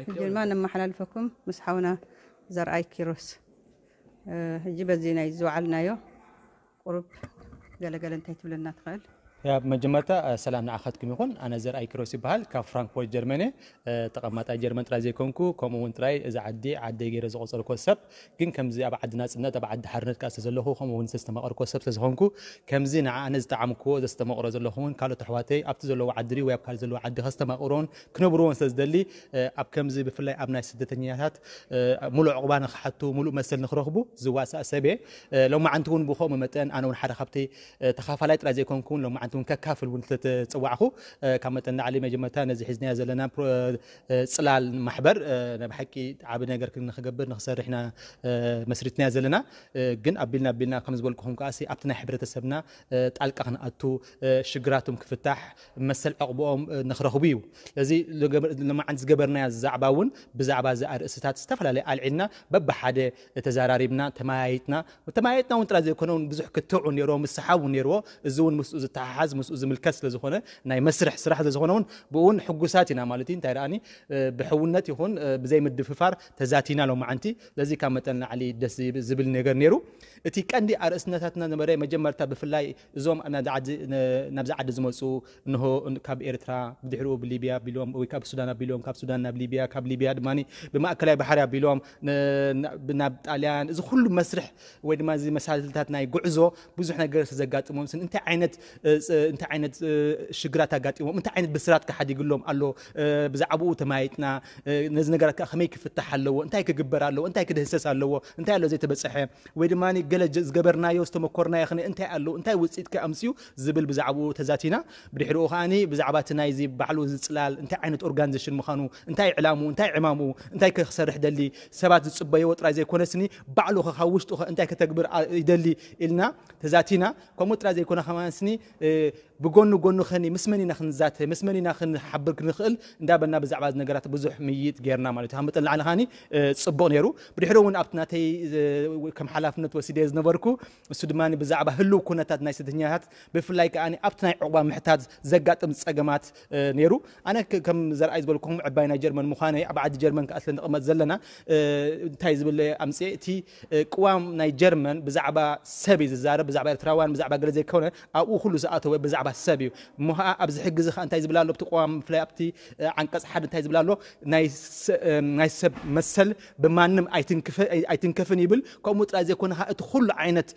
ሕጂ ድማ ነመሓላልፈኩም ምስ ሓውና ዘርኣይ ኪሮስ። ሕጂ በዚ ናይ ዝወዓልናዮ ቁሩብ ገለገለ እንታይ ትብለና ትኽእል? መጀመርታ ሰላም ንዓኻትኩም ይኹን። ኣነ ዘርኣይ ኪሮስ ይበሃል፣ ካብ ፍራንክፎርት ጀርመን እየ። ተቐማጣይ ጀርመን ጥራይ ዘይኮንኩ፣ ከምኡ እውን ጥራይ እዚ ዓዲ ዓደይ ገይረ ዝቆጸርኮ ሰብ፣ ግን ከምዚ ኣብ ዓዲ ናጽነት፣ ኣብ ዓዲ ሓርነት ከኣ ስለዘለኹ፣ ከምኡ እውን ዝተስተማቐርኮ ሰብ ስለዝኾንኩ፣ ከምዚ ንዓኣነ ዝጠዓምክዎ ዘስተማቕሮ ዘለኹ እውን ካልኦት ኣሕዋተይ ኣብቲ ዘለዎ ዓዲ ወይ ኣብ ካልእ ዘለዎ ዓዲ ከስተማቕሮን ክነብርዎን ስለዝደሊ፣ ኣብ ከምዚ ብፍላይ ኣብ ናይ ስደተኛታት ሙሉእ ዕቑባ ንክሓቱ፣ ሙሉእ መሰል ንክረኽቡ ዝዋሳእ ሰብ እየ። ሎማዓንቲ እውን ብኸምኡ መጠን ኣነ እውን ሓደ ካብቲ ተኻፋላይ ጥራይ ዘይኮንኩ እውን ሎማዓንቲ እውን ከካፍል እውን ስለተፀዋዕኹ፣ ካብ መጠን ላዕሊ መጀመርታ ነዚ ሒዝናዮ ዘለና ጽላል ማሕበር ናይ ብሓቂ ዓቢ ነገር ንክገብር ንክሰርሕ ኢና መስሪትናዮ ዘለና። ግን ኣቢልና ኣቢልና ከም ዝበልኩኹም ከኣ ኣብቲ ናይ ሕብረተሰብና ጣልቃ ክንኣቱ፣ ሽግራቶም ክፍታሕ፣ መሰል ዕቕብኦም ንክረኽቡ እዩ። ስለዚ ሎማዓንቲ ዝገበርናዮ ዛዕባ እውን ብዛዕባ እዚ ኣርእስታት ዝተፈላለየ ኣልዒልና በብሓደ ተዛራሪብና ተመያይጥና፣ ተመያይጥና እውን ጥራይ ዘይኮነ እውን ብዙሕ ክትዕ እውን ነይርዎ፣ ምስሓብ እውን ነይርዎ። እዚ እውን ምስኡ ዝተሓሓዝ ምስኡ ዝምልከት ስለዝኾነ ናይ መስርሕ ስራሕ ስለዝኾነ እውን ብእውን ሕጉሳት ኢና ማለት እዩ። እንታይ ደኣኒ ብሕውነት ይኹን ብዘይ ምድፍፋር ተዛቲና ሎማዓንቲ። ስለዚ ካብ መጠን ላዕሊ ደስ ዝብል ነገር ነይሩ። እቲ ቀንዲ ኣርእስነታትና ነበረ መጀመርታ ብፍላይ እዞም ናብዚ ዓዲ ዝመፁ እንሆ ካብ ኤርትራ ብድሕሪኡ ብሊብያ ኣቢሎም ወይ ካብ ሱዳን ኣቢሎም ካብ ሱዳን ናብ ሊብያ ካብ ሊብያ ድማ ብማእከላይ ባሕሪ ኣቢሎም ናብ ጣልያን እዚ ኩሉ መስርሕ ወይ ድማ እዚ መሳልታት ናይ ጉዕዞ ብዙሕ ነገር ዘጋጥሞም ስን እንታይ ዓይነት እንታይ ዓይነት ሽግራት ኣጋጢሞም እንታይ ዓይነት ብስራት ክሓዲግሎም ኣሎ ብዛዕባኡ ተማይጥና ነዚ ነገራት ከመይ ክፍታሕ ኣለዎ እንታይ ክግበር ኣለዎ እንታይ ክድህሰስ ኣለዎ እንታይ ኣሎ ዘይተበፀሐ ወይ ድማ ገለ ዝገበርናዮ ዝተመኮርናዮ ኸነ እንታይ ኣሎ እንታይ ውፅኢት ከኣምፅዩ ዝብል ብዛዕባኡ ተዛቲና ብድሕሪኡ ከዓኒ ብዛዕባ እቲ ናይዚ ባዕሉ ዝፅላል እንታይ ዓይነት ኦርጋኒዜሽን ምዃኑ እንታይ ዕላምኡ እንታይ ዕማምኡ እንታይ ክሰርሕ ደሊ ሰባት ዝፅበይዎ ጥራይ ዘይኮነስኒ ባዕሉ ኸ ካብ ውሽጡ ኸ እንታይ ከተግብር ይደሊ ኢልና ተዛቲና ከምኡ ጥራይ ዘይኮነ ከማንስኒ ብጎኒ ጎኑ ኸኒ ምስ መን ኢና ክንዛተ ምስ መን ኢና ክንሓብር ክንኽእል እንዳበልና ብዛዕባ እዚ ነገራት ብዙሕ ምይይጥ ጌርና ማለት እዩ ካብ መጠን ላዕሊ ኸኒ ፅቡቕ ነይሩ ብድሕሪ እውን ኣብቲ ናተይ ከም ሓላፍነት ወሲደ ዝነበርኩ እሱ ድማ ብዛዕባ ህልው ኩነታት ናይ ስደተኛታት ብፍላይ ከዓ ኣብቲ ናይ ዕቑባ ምሕታት ዘጋጥም ፀገማት ነይሩ ኣነ ከም ዘርኣይ ዝበልኩም ዕባይ ናይ ጀርመን ምዃነይ ኣብ ዓዲ ጀርመን ከዓ ስለ ንቕመጥ ዘለና እንታይ ዝብል ኣምፅኤ እቲ ቅዋም ናይ ጀርመን ብዛዕባ ሰብ እዩ ዝዛረብ ብዛዕባ ኤርትራውያን ብዛዕባ ገለ ዘይኮነ ኣብኡ ኩሉ ዝኣተወ ብዛዕባ ሰብ እዩ እሞ ከዓ ኣብዚ ሕጊ እዚ ከዓ እንታይ ዝብል ኣሎ ኣብቲ ቅዋም ብፍላይ ኣብቲ ዓንቀፅ ሓደ እንታይ ዝብል ኣሎ ናይ ሰብ መሰል ብማንም ኣይትንከፍን ይብል ከምኡ ጥራይ ዘይኮነ ከዓ እቲ ኩሉ ዓይነት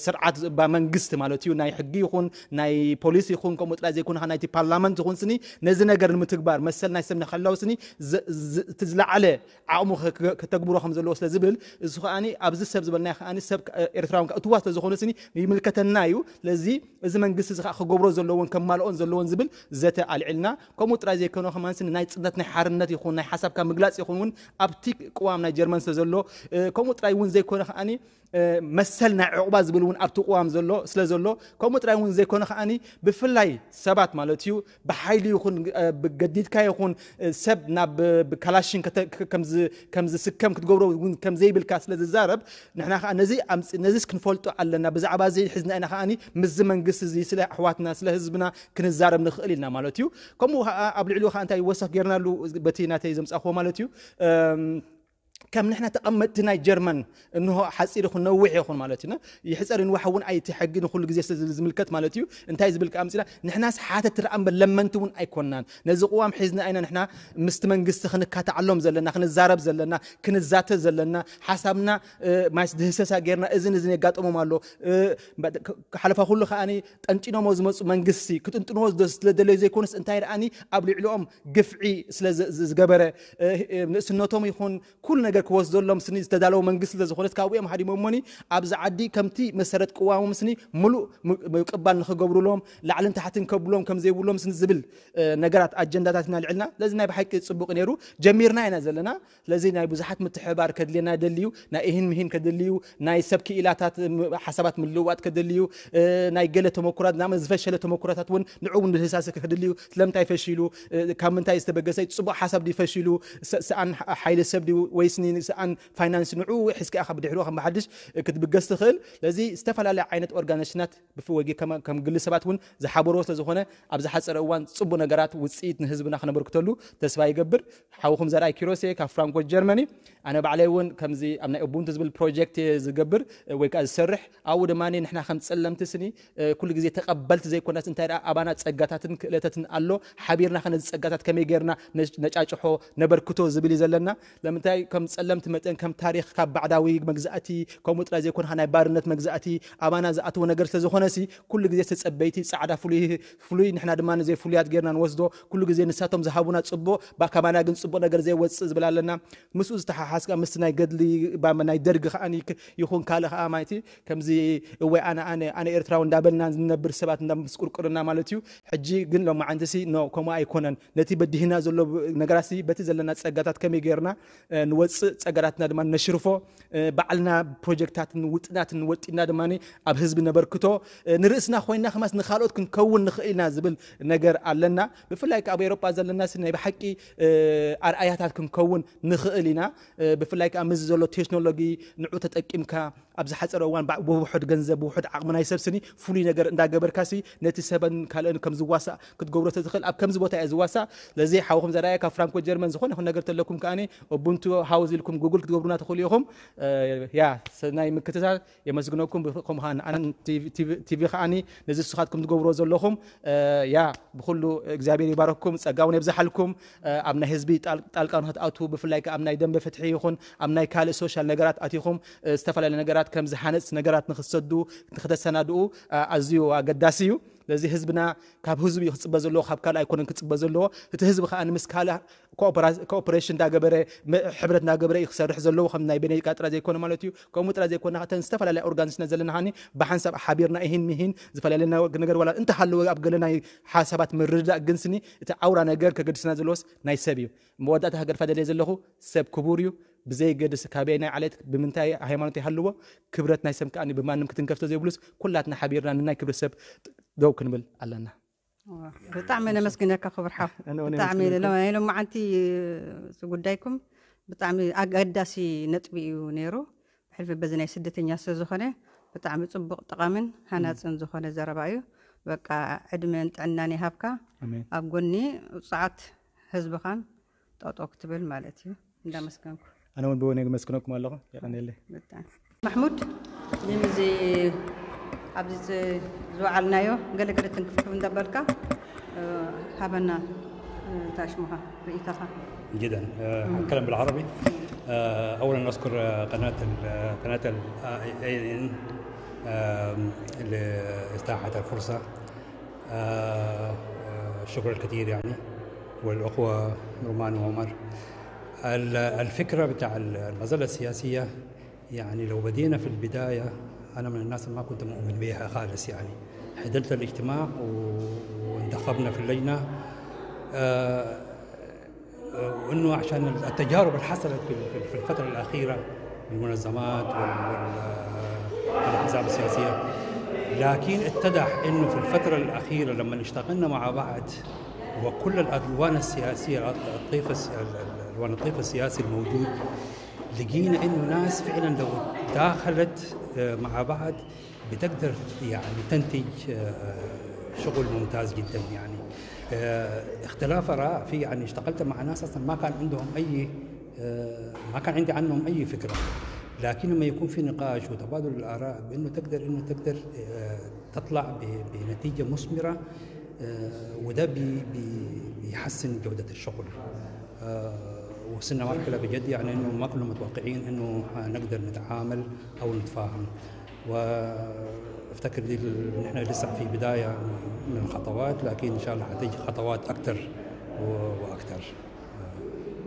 ስርዓት እባ መንግስቲ ማለት እዩ ናይ ሕጊ ይኹን ናይ ፖሊስ ይኹን ከምኡ ጥራይ ዘይኮነ ከዓ ናይቲ ፓርላመንት ይኹን ስኒ ነዚ ነገር ንምትግባር መሰል ናይ ሰብ ንክሕለው ስኒ እቲ ዝለዓለ ዓቕሙ ከተግብሮ ከም ዘለዎ ስለ ዝብል እዚ ከዓኒ ኣብዚ ሰብ ዝበልናዮ ከዓኒ ሰብ ኤርትራውን እትዋ ስለ ዝኾነ ስኒ ይምልከተና እዩ ስለዚ እዚ መንግስቲ እዚ ከዓ ክገብሮ ዘለዎን ከማልኦን ዘለዎን ዝብል ዘተ ኣልዒልና ከምኡ ጥራይ ዘይኮነ ከማን ስኒ ናይ ፅነት ናይ ሓርነት ይኹን ናይ ሓሳብካ ምግላፅ ይኹን እውን ኣብቲ ቅዋም ናይ ጀርመን ስለ ዘሎ ከምኡ ጥራይ እውን ዘይኮነ ከዓኒ መሰል ናይ ዕቑባ ዝብል እውን ኣብቲ ቅዋም ዘሎ ስለ ዘሎ ከምኡ ጥራይ እውን ዘይኮነ ከዓኒ ብፍላይ ሰባት ማለት እዩ ብሓይሊ ይኹን ብገዲድካ ይኹን ሰብ ናብ ብካላሽን ከም ዝስከም ክትገብሮ እውን ከም ዘይብልካ ስለ ዝዛረብ ንሕና ከዓ ነዚ ኣምፅ ነዚስ ክንፈልጦ ኣለና ብዛዕባ እዚ ሕዝና ኢና ከዓኒ ምስዚ መንግስቲ እዚ ስለ ኣሕዋትና ስለ ህዝብና ክንዛረብ ንኽእል ኢልና ማለት እዩ ከምኡ ከዓ ኣብ ልዕሊኡ ከዓ እንታይ ወሰኽ ጌርናሉ በቲ ናተይ ዘምፃኽዎ ማለት እዩ ከም ንሕና ተቐመጥቲ ናይ ጀርመን እንሆ ሓፂር ይኹን ነዊሕ ይኹን ማለት እዩ ይሕፀር ይንዋሕ እውን ኣይቲ ሕጊ ንኩሉ ግዜ ስለ ዝምልከት ማለት እዩ እንታይ ዝብል ከዓ ምፅና ንሕናስ ሓተት ትረኣ እምበር ለመንቲ እውን ኣይኮናን ነዚ ቅዋም ሒዝና ኢና ንሕና ምስቲ መንግስቲ ክንካተዓሎም ዘለና ክንዛረብ ዘለና ክንዛተ ዘለና ሓሳብና ማይስ ድህሰሳ ጌርና እዝን እዝን የጋጥሞም ኣሎ ሓለፋ ኩሉ ከዓ ጠንጢኖሞ ዝመፁ መንግስቲ ክጥንጥንዎ ስለደለዩ ዘይኮነስ እንታይ ደኣኒ ኣብ ልዕሊኦም ግፍዒ ስለ ዝገበረ ንእስነቶም ይኹን ኩሉ ነገር ክወስደሎም ስኒ ዝተዳለወ መንግስቲ ስለዝኾነት ካብኡ እዮም ሃዲሞሞኒ ኣብዚ ዓዲ ከምቲ መሰረት ቅዋሞም ስኒ ሙሉእ ምቅባል ንክገብሩሎም ላዕልን ታሕትን ከብሎም ከም ዘይብሎም ስኒ ዝብል ነገራት ኣጀንዳታት ኢና ልዕልና ስለዚ ናይ ብሓቂ ፅቡቅ ነይሩ ጀሚርና ኢና ዘለና ስለዚ ናይ ብዙሓት ምትሕባር ከድልየና ደልዩ ናይ እሂን ምሂን ከድልዩ ናይ ሰብ ክኢላታት ሓሳባት ምልውዋጥ ከድልዩ ናይ ገለ ተመኩራት ናብ ዝፈሸለ ተመኩራታት እውን ንዕኡ ንድህሳስ ከድልዩ ስለምንታይ ፈሺሉ ካብ ምንታይ ዝተበገሰ ፅቡቅ ሓሳብ ድዩ ፈሺሉ ሰኣን ሓይሊ ሰብ ድዩ ወይ ስኒ ንስኣን ፋይናንስ ንዑ ሒዝካ ኢኻ ብድሕሪኡ ከም ብሓድሽ ክትብገስ ትኽእል። ስለዚ ዝተፈላለያ ዓይነት ኦርጋናይዜሽናት ብፍ-፣ ወይ ከም፣ ከም ግሊ ሰባት እውን ዝሓበርዎ ስለ ዝኾነ ኣብ ዝሓፀረ እዋን ፅቡቅ ነገራት ውፅኢት ንህዝብና ክነበርክተሉ ተስፋ ይገብር። ሓውኹም ዘርኣይ ኪሮስ እየ ካብ ፍራንክፈርት ጀርመኒ። ኣነ ባዕለይ እውን ከምዚ ኣብ ናይ ኡቡንቱ ዝብል ፕሮጀክት እየ ዝገብር ወይ ከዓ ዝሰርሕ። ኣብኡ ድማ ንሕና ከም ፀለምቲ ስኒ ኩሉ ግዜ ተቐበልቲ ዘይኮናስ እንታይ ደኣ ኣባና ፀጋታትን ክእለታትን ኣሎ፣ ሓቢርና ከ ነዚ ፀጋታት ከመይ ጌርና ነጫጭሖ ነበርክቶ ዝብል እዩ ዘለና። ለምንታይ ከም ጸለምቲ መጠን ከም ታሪኽ ካብ ባዕዳዊ መግዛእቲ ከምኡ ጥራይ ዘይኮነ ናይ ባርነት መግዛእቲ ኣባና ዝኣተወ ነገር ስለ ዝኾነ ሲ ኩሉ ግዜ ተጸበይቲ ጻዕዳ ፍሉይ ፍሉይ ንሕና ድማ ንዘይፍሉያት ጌርና ንወስዶ። ኩሉ ግዜ ንሳቶም ዝሃቡና ጽቡቕ ባ-፣ ካባና ግን ጽቡቕ ነገር ዘይወጽእ ዝብል ኣለና። ምስኡ ዝተሓሓዝካ ምስቲ ናይ ገድሊ ባ-፣ ናይ ደርጊ ከኣ ይኹን ካልእ ከኣ ማይቲ ከምዚ እወ ኣነ ኣነ ኣነ ኤርትራዊ እንዳበልና ዝነብር ሰባት እንዳምስቁርቁርና ማለት እዩ። ሕጂ ግን ሎማዓንቲ ሲ ኖ ከምኡ ኣይኮነን። ነቲ በዲህና ዘሎ ነገራት ሲ በቲ ዘለና ጸጋታት ከመይ ጌርና ንወጽእ ጸጋታትና ድማ ነሽርፎ ባዕልና ፕሮጀክታትን ውጥናትን ወጢና ድማ ኣብ ህዝቢ ነበርክቶ ንርእስና ኮይና ከማስ ንኻልኦት ክንከውን ንኽእል ኢና ዝብል ነገር ኣለና። ብፍላይ ኣብ ኤሮጳ ዘለና ሲ ናይ ብሓቂ ኣርኣያታት ክንከውን ንኽእል ኢና። ብፍላይ ከዓ ምስዚ ዘሎ ቴክኖሎጂ ንዑ ተጠቂምካ ኣብ ዝሓፀረ እዋን ብውሑድ ገንዘብ ብውሑድ ዓቕሚ ናይ ሰብ ስኒ ፍሉይ ነገር እንዳገበርካ ሲ ነቲ ሰበን ካልእን ከም ዝዋሳእ ክትገብሮ ተዝኽእል ኣብ ከምዚ ቦታ እየ ዝዋሳእ። ስለዚ ሓውኹም ዘርኣየ ካብ ፍራንኮ ጀርመን ዝኾነ ይኹን ነገር ተለኩም ከኣኒ ኡቡንቱ ሃውስ ኢልኩም ጉግል ክትገብሩና ትኽእሉ ኢኹም። ያ ሰናይ ምክትታል የመስግነኩም። ከምኡ ከዓ ንኣን ቲቪ ከኣኒ ነዚ ንስኻትኩም ትገብርዎ ዘለኹም ያ ብኩሉ እግዚኣብሔር ይባረኩም፣ ጸጋውን የብዝሓልኩም። ኣብ ናይ ህዝቢ ጣልቃ ንክትኣትዉ ብፍላይ ኣብ ናይ ደንበ ፍትሒ ይኹን ኣብ ናይ ካልእ ሶሻል ነገራት ኣቲኹም ዝተፈላለዩ ነገራት ከም ዝሃነጽ ነገራት ንክትሰዱ ንክተሰናድኡ ኣዝዩ ኣገዳሲ እዩ። ስለዚ ህዝብና ካብ ህዝቢ እዩ ክጽበ ዘለዎ፣ ካብ ካልእ ኣይኮነን ክጽበ ዘለዎ። እቲ ህዝቢ ከዓ ንምስ ካልእ ኮኦፕሬሽን እንዳገበረ ሕብረት እንዳገበረ እዩ ክሰርሕ ዘለዎ ከም ናይ ቤኔቃ ጥራይ ዘይኮነ ማለት እዩ። ከምኡ ጥራይ ዘይኮነ እተን ዝተፈላለያ ኦርጋኒስና ዘለና ሃኒ ብሓንሳብ ሓቢርና ይህን ምሂን ዝተፈላለየ ነገር ዋላ እንተሃለወ ኣብ ገለ ናይ ሓሳባት ምርድዳእ ግን ስኒ እቲ ዓውራ ነገር ከገድስና ዘለዎስ ናይ ሰብ እዩ። መወዳእታ ሃገር ፋደልየ ዘለኹ ሰብ ክቡር እዩ። ብዘይ ገድስ ካበይ ናይ ዓሌት ብምንታይ ሃይማኖት ይሃልዎ ክብረት ናይ ሰብ ከኣ ብማንም ክትንከፍ ዘይብሉስ ኩላትና ሓቢርና ንናይ ክብሪ ሰብ ደው ክንብል ኣለና። ብጣዕሚ ነመስግነካ ክቡር ሓው። ብጣዕሚ ናይ ሎማዓንቲ ጉዳይኩም ብጣዕሚ ኣገዳሲ ነጥቢ እዩ ነይሩ። ብሕልፊ በዚ ናይ ስደተኛ ስለ ዝኾነ ብጣዕሚ ጽቡቕ ጠቓምን ሃናጽን ዝኾነ ዘረባ እዩ። በቃ ዕድመን ጥዕናን ይሃብካ። ኣብ ጎኒ ውጽዓት ህዝብኻን ጠጠው ክትብል ማለት እዩ። እንዳመስገንኩ። ኣነ እውን ብወነ የመስግነኩም ኣለኹ። የቐንየለይ። ብጣዕሚ። ማሕሙድ፣ ንምዚ ኣብዚ ዝወዓልናዮ ገለገለ ትንክፍክፍ እንዳበልካ ሃበና። ታሽሙኻ ርእይታኻ። جدا. أتكلم بالعربي. أولا أشكر قناة قناة ال إيه إن لإتاحة الفرصة. شكرا الكثير يعني. والأخوة رومان وعمر. الفكرة بتاع المظلة السياسية، يعني لو بدينا في البداية، أنا من الناس اللي ما كنت مؤمن بيها خالص يعني. حضرت الاجتماع وانتخبنا في اللجنة. آه، وإنه عشان التجارب اللي حصلت في في الفترة الأخيرة، المنظمات والأحزاب السياسية، لكن اتضح إنه في الفترة الأخيرة لما اشتغلنا مع بعض وكل الألوان السياسية، الطيف الألوان الطيف السياسي الموجود، لقينا إنه ناس فعلا لو داخلت مع بعض بتقدر يعني تنتج شغل ممتاز جدا يعني. اختلاف آراء في، يعني اشتغلت مع ناس أصلا ما كان عندهم أي، ما كان عندي عنهم أي فكرة، لكن لما يكون في نقاش وتبادل الآراء بأنه تقدر، إنه تقدر تطلع بنتيجة مثمرة، وده بي بي بيحسن جودة الشغل. وصلنا مرحلة بجد يعني إنه ما كنا متوقعين إنه حنقدر نتعامل أو نتفاهم. وافتكر دي ال- نحن لسه في بداية من الخطوات، لكن إن شاء الله حتيجي خطوات أكتر و- وأكتر.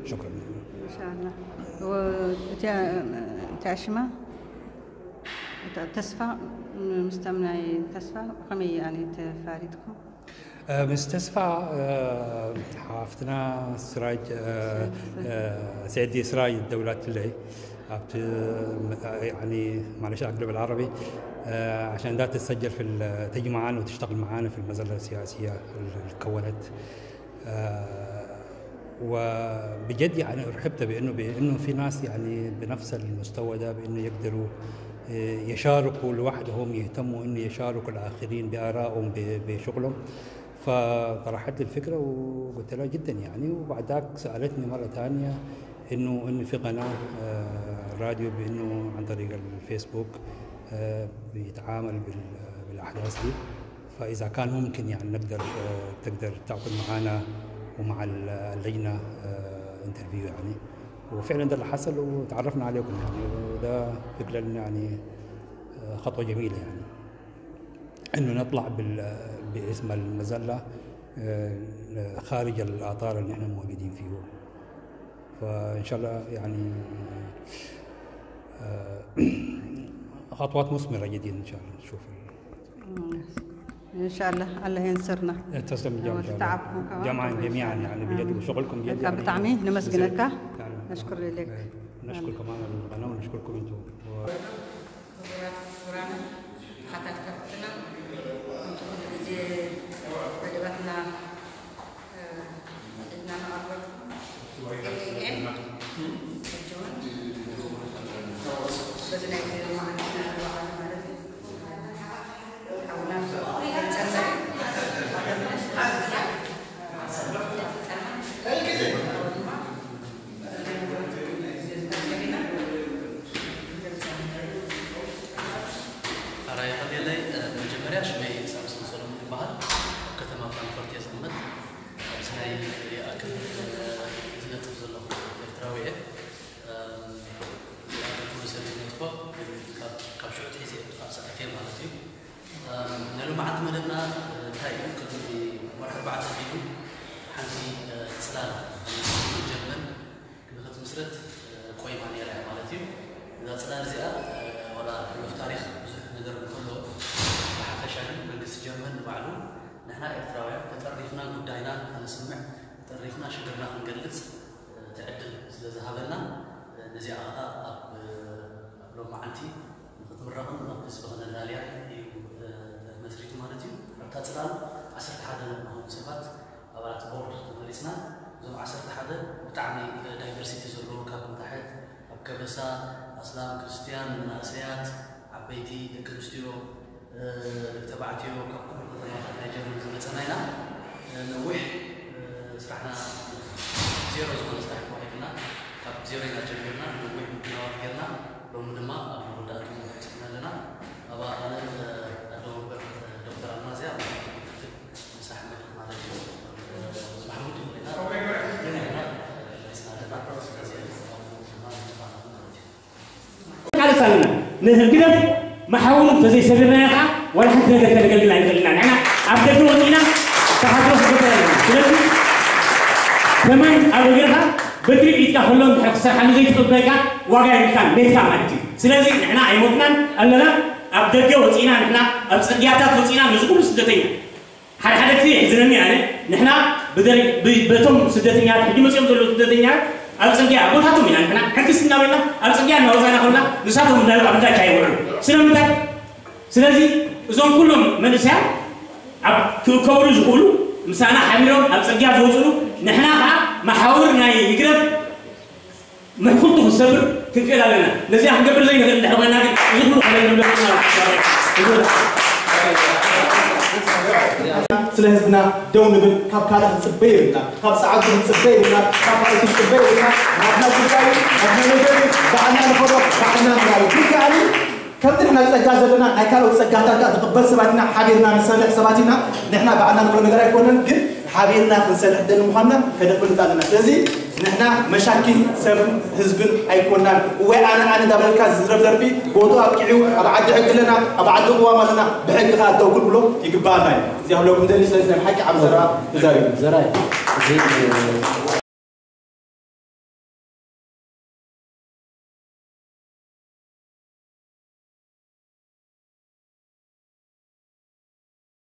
شكرا. إن شاء الله. و تاسفة مستمعي تاسفة خمي يعني تفاريدكم. مستسفة ሓፍትና ስራጅ፣ ስራጅ፣ ስራጅ። ስራጅ። سيدي سراج الدولات اللي يعني معلش أقلب العربي عشان ده تسجل في تجي معانا وتشتغل معانا في المظلة السياسية اللي تكونت. وبجد يعني رحبت بأنه بأنه في ناس يعني بنفس المستوى ده، بأنه يقدروا آه، يشاركوا لوحدهم، يهتموا إنه يشاركوا الآخرين بآرائهم ب- بشغلهم. فطرحت لي الفكرة وقلت لها جدا يعني. وبعد ذاك سألتني مرة ثانية إنه إنه في قناة آه، راديو، بإنه عن طريق الفيسبوك آه، بيتعامل بال- بالأحداث دي. فإذا كان ممكن يعني نقدر آه، تقدر تعقد معنا ومع ال- اللجنة انترفيو يعني. وفعلا ده اللي حصل وتعرفنا عليكم يعني. وده فكرا يعني آه، خطوة جميلة يعني، إنه نطلع بال- باسم المزلة آه، خارج الإطار اللي إحنا موجودين فيه. فإن شاء الله يعني آه، خطوات مثمرة جديدة إن شاء الله نشوف. إن شاء الله الله ينصرنا. تسلم الجامعة إن شاء الله. وتتعبكم كمان. جمعا إن شاء جميعا الله. يعني بجد، آمين. وشغلكم بجد ካብ يعني ብጣዕሚ ነመስግነካ። يعني ነሽኩር ኢለክ። نشكر كمان القناة ونشكركم انتم. ክቡራት ክቡራን ተኸታተልትና ከምቲ ኩሉ ግዜ መደባትና እ፣ ሒዝና ንቐርብ። ኤ ኤም ሕጂ እውን በዚ ናይ ቪድዮ መዓልቲ ንበዓል ማለት እዩ። ሓውና ጸመረ ኣራይ ቀሌለይ መጀመርያ ሽመይ ሳምሶን ሰሎሞን ይበሃል። ኣብ ከተማ ፍራንክፈርት እየ ዝቕመጥ። ኣብዚ ናይ ሪኣ ክፍል ዝነጥፍ ዘለኹ ኤርትራዊ እየ። ኣገልግሎት ሰብ ነጥፎ ካብ ሽዑ ትሒዘ ካብ ሰዓት እየ ማለት እዩ። ናይ ሎማዓንቲ መደብና እንታይ እዩ? ቅድሚ ወርሒ ኣርባዕተ ኣቢሉ ሓንቲ ጽላል ጀርመን ክንክትምስረት ቆይማ ነይራ እያ ማለት እዩ። እዛ ጽላል እዚኣ ዋላ ሕሉፍ ታሪኽ ብዙሕ ነገር እንከሎ፣ ብሓፈሻ ግን መንግስቲ ጀርመን ንባዕሉ ንሕና ኤርትራውያን ተጠሪፍና ጉዳይና ከነስምዕ፣ ተጠሪፍና ሽግርና ክንገልጽ እቲ ዕድል ስለ ዝሃበና፣ ነዚኣ ኸኣ ኣብ ኣብ ሎማዓንቲ ንኽትምረቕን ናብ ህዝቢ ከነላልያን እዩ ተመስሪቱ ማለት እዩ። ኣብታ ጽላል ዓሰርተ ሓደ ንኾኑ ሰባት ኣባላት ቦርድ ተመሪጽና። እዞም ዓሰርተ ሓደ ብጣዕሚ ዳይቨርሲቲ ዘለዎ፣ ካብ ንታሕት ኣብ ከበሳ፣ ኣስላም፣ ክርስትያን፣ መናእሰያት፣ ዓበይቲ፣ ደቂ ኣንስትዮ፣ ደቂ ተባዕትዮ፣ ካብ ኩሉ ከተማታት ናይ ጀርመን ዝመጸና ኢና። ነዊሕ ስራሕና ዜሮ ዝኾነ ስራሕ ተዋሂብና፣ ካብ ዜሮ ኢና ጀሚርና፣ ነዊሕ ምድላዋት ጌርና። ሎሚ ድማ ኣብ መወዳእትኡ በጺሕና ኣለና። ኣብ ኣነ ኣደ ወንበር ዶክተር ኣልማዝያ ክትል ምሳሕ መድረኽ ማለት እዩ። ማሕሙድ ኢና መሊስና ኣለና። ስለዚ ድማ ንባና ማለት እዩ። ቃልስ ኣለና። ንህግደፍ መሓውሩ እንተዘይሰቢርናዮ ከዓ ዋላ ሓንቲ ነገር ከነገልግል ኣይንኽእልን ኢና። ንሕና ኣብ ደገ ወፂእና ተሓድሮ ክገብር ኣለና። ስለዚ ከማን ኣብ እግርኻ በትሪ ሒዝካ ከሎ እንድሕር ክሰርሓሉ ዘይትኽእል ኮይንካ ዋጋ የብልካን፣ ሜትካ ማለት እዩ። ስለዚ ንሕና ኣይሞትናን ኣለና። ኣብ ደገ ወፂእና ንሕና ኣብ ፅርግያታት ወፂእና ነዚ ኩሉ ስደተኛ ሓደ ሓደ ግዜ የሕዝነኒ ኣነ ንሕና ብደረ- ብ- በቶም ስደተኛታት ሕጂ መፅኦም ዘለዉ ስደተኛታት ኣብ ፅርግያ ኣቦታቶም ኢና ንሕና ሕግስ እናበልና ኣብ ፅርግያ እናወፃና ከለና ንሳቶም እንዳበሉ ኣብ እንዳቻ ይውዕሉ ስለምንታይ ስለዚ እዞም ኩሎም መንእሰያት ኣብ ክእከብሉ ዝኽእሉ ምሳና ሓቢሮም ኣብ ፅርግያ ዝወፅሉ ንሕና ከዓ መሓውር ናይ ይግረፍ ምሕኩልቱ ክሰብር ክንክእል ኣለና። ነዚኣ ክንገብር ዘይንኽእል እንድሕር ኮይና ግን እዚ ኩሉ ከለል ንብለኩም ኢና። ስለ ህዝብና ደው ንብል፣ ካብ ካልእ ክንጽበ የብልና፣ ካብ ጻዕዱ ክንጽበ የብልና፣ ካብ ካልእ ክንጽበ የብልና። ናትና ጉዳይ ናትና ነገር ባዕልና ንኸዶ ባዕልና ንራዩ ግን ከኣኒ ከምቲ ንሕና ጸጋ ዘለና ናይ ካልኦት ጸጋታት ከኣ ንቕበል ሰባት ኢና፣ ሓቢርና ንሰርሕ ሰባት ኢና። ንሕና ባዕልና ንኽእሎ ነገር ኣይኮነን ግን ሓቢርና ክንሰርሕ ደሊ ምዃንና ከነፍልጥ ኣለና። ስለዚ ንሕና መሻኪን ሰብ ህዝብን ኣይኮናን። እዋይ ኣነ ኣነ እንዳበለልካ ዝዝረብ ደርፊ ቦትኡ ኣብቂዑ ኣብ ዓዲ ሕጊ ኣለና፣ ኣብ ዓዲ ቅዋም ኣለና፣ ብሕጊ ከኣ ደው ክንብሎ ይግባኣና እዩ። እዚ ክብለኩም ደሊ። ስለዚ ናይ ብሓቂ ዓቢ ዘረባ ተዛሪቡ። ዘራይ እዚ